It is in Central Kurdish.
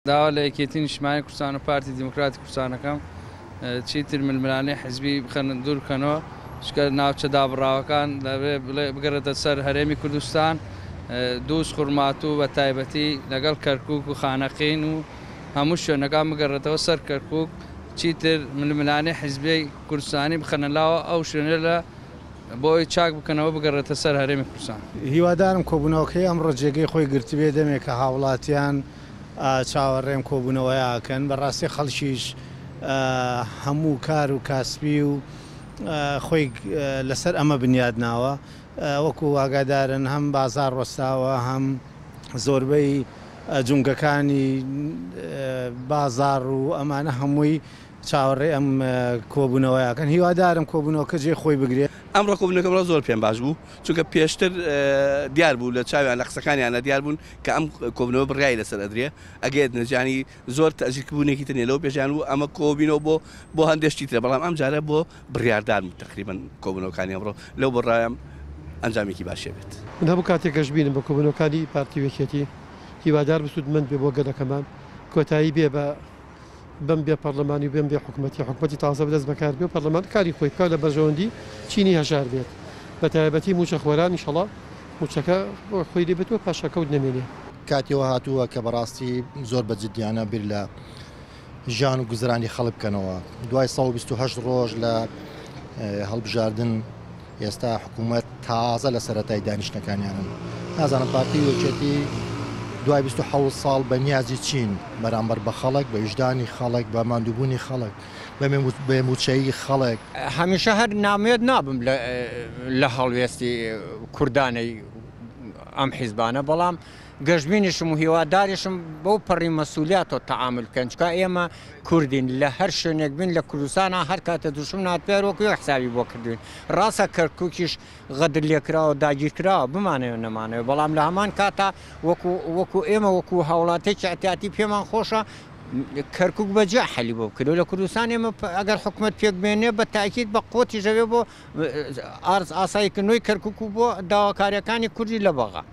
داوا لە یەکێتی نیشتمانی کوردستان و پارتی دیموکراتی کوردستان ئەکەم چیتر ململانێی حزبی بخەن دوور بکەنەوە، چونکە ناوچە دابڕاوەکان دەبێ بگەڕێتە سەر هەرێمی کوردستان، دووز خورماتوو بە تایبەتی لەگەڵ کەرکووک و خانەقین و هەموو شوێنەکان بگەڕێتەوە سەر کەرکووک، چیتر ململانێی حزبی کوردستانی بخەنە لاوە ئەو شوێنە لە بۆ ئەوەی چاک بکەنەوە بگەڕێتە سەر هەرێمی کوردستان. هیوادارم کۆبوونەوەکەی ئەمڕۆ جێگەی خۆی گرتبێ، دەمێکە هاوڵاتیان چاوەڕێم کۆبوونەوەیە ئەکەن، بەڕاستی خەڵکیش هەموو کار و کاسبی و خۆی لەسەر ئەمە بنیاد ناوە، وەکو ئاگادارن هەم بازاڕ وەستاوە هەم زۆربەی جومگەکانی بازاڕ و ئەمانە هەمووی چاوەڕێی ئەم کۆبوونەوەیە ئەکەن، هیوادارم کۆبوونەوەکە جێی خۆی بگرێت. ئەمڕۆ کۆبوونەوەکە بەڕاست زۆر پێم باش بوو، چونکە پێشتر دیار بوو لە چاویان لە قسەکانیانە دیار بوون کە ئەم کۆبوونەوە بڕیاری لەسەر ئەدرێ ئەگەر نەجانی زۆر تەئجیلکبوونێکی تر نیە لەوە پێشیان بوو ئەمە کۆبینەوە بۆ بۆ هەندێک شتی ترە بەڵام ئەم جارە بۆ بڕیاردان بوو تەقریبەن کۆبوونەوەکانی ئەمڕۆ لەو بڕایەم ئەنجامێکی باشی بێت. من هەموو کاتێک گەشبینم بە کۆبوونەوەکانی پارتی و یەکێتی، هیوادارم سوودمەند بێ بۆ گەلەکەمان، کۆتایی بێ بە بەم بێ پەڕلەمانی و بەم بێ حکومەتی، حکومەتی تازە دەست بەکار بێ و پەڕلەمان کاری خۆی بکا و لە بەرژەوەندی چینی هەژار بێت بە تایبەتی مووچە خۆران ئیشەڵا مووچەکە خۆی لێ بێت و پاشەکەوت نەمێنێ. کاتی ئەوە هاتووە کە بەڕاستی زۆر بە جدیانە بیر لە ژیان و گوزەرانی خەڵک بکەنەوە. دوای 128 ڕۆژ لە هەڵبژاردن ئێستا حکوومەت تازە لە سەرەتای دانیشتنەکانیانن. نازانم پارتی و یەکێتی دوای 27 ساڵ بە نیازی چین بەرامبەر بە خەڵک، بە ویژدانی خەڵک، بە ماندووبوونی خەڵک، بە مووچەیی خەڵک. هەمیشە هەر نامێت نابم لە هەڵوێستی کوردانەی ئەم حیزبانە، بەڵام گەشبینیشم و هیواداریشم بەو پەڕی مەسولیاتەوە تەعامل بکەن، چونکە ئێمە کوردین لە هەر شوێنێک بین لە کوردستانا هەر کاتێ دوشمن هاتبێ هەر وەکو یەک حسابی بۆ کردوین، ڕاستە کەرکوکیش غەدر لێکراوە داگیرکراوە بمانەوێ نەمانەوێ، بەڵام لە هەمان کاتا وەکو وەکو ئێمە وەکو هاوڵاتیەکی ئیعتیادی پێمان خۆشە کەرکوک بە جیا حەلی بۆ بکرێ و لە کوردستان ئێمە ئەگەر حکومەت پێک بێنێ بە تاکید بە قوتیش ئەوێ بۆ ئارز ئاساییکردنەوەی کەرکوک و بۆ داواکاریەکانی کوردی لە بەغا.